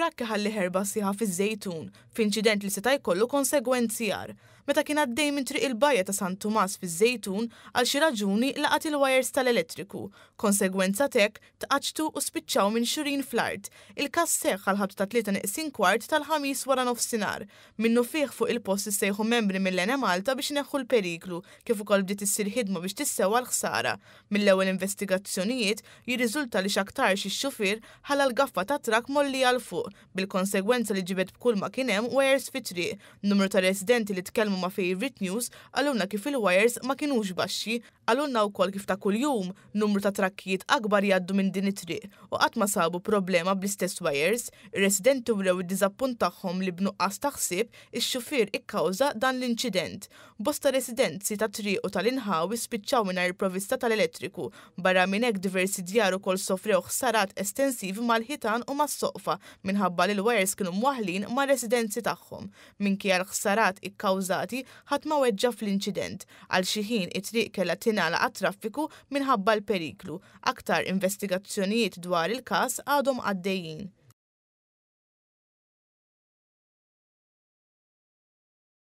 Trakk iħalli ħerba sħiħa fiż-Żejtun, f'inċident li seta' jkollu konsegwenzi agħar. Meta kien għaddej minn Triq il-Bajja ta' San Tumas fiż-Żejtun, għal xi raġuni laqat il-wires tal-elettriku. Konsegwenza t'hekk, tqaċċtu u spiċċaw minxurin fl-art. Il-każ seħħ għall-ħabta tat-tlieta neqsin kwart tal-Ħamis waranofsinhar. Minnufih fuq il-post issejħu membri mill-Enemalta biex ineħħu l-periklu, kif ukoll bdiet issir ħidma biex tissewwa l-ħsara. Mill-ewwel investigazzjonijiet, jirriżulta li x'aktarx ix-xufier ħalla l-gaffa tat-trakk mgħollija 'l fuq, bil-konsegwenza li ġibed b'kulma kien hemm wires fit-triq. Numru ta' residenti li tkellmu ma' Favourite News qalulna kif il-wires ma kinux baxxi. Qalulna wkoll kif ta' kuljum, numru ta' trakkijiet akbar jgħaddu minn din it-triq u qatt ma sabu problema bl-istess wires. Ir-residenti wrew id-diżappunt tagħhom li b'nuqqas ta' ħsieb, ix-xufier ikkawża dan l-inċident. Bosta residenzi tat-triq u tal-inħawi spiċċaw mingħajr provvista tal-elettriku. Barra minn hekk diversi djar ukoll sofrew ħsarat estensivi mal-ħitan u mas-soqfa minħabba li l-wires kienu mwaħħlin mar-residenzi tagħhom. Minkejja l-ħsarat ikkawżati, ħadd ma weġġa' fl-inċident. Għal xi ħin it-triq kellha tingħalaq għat-traffiku minħabba l-periklu. Aktar investigazzjonijiet dwar il-każ għadhom għaddejjin.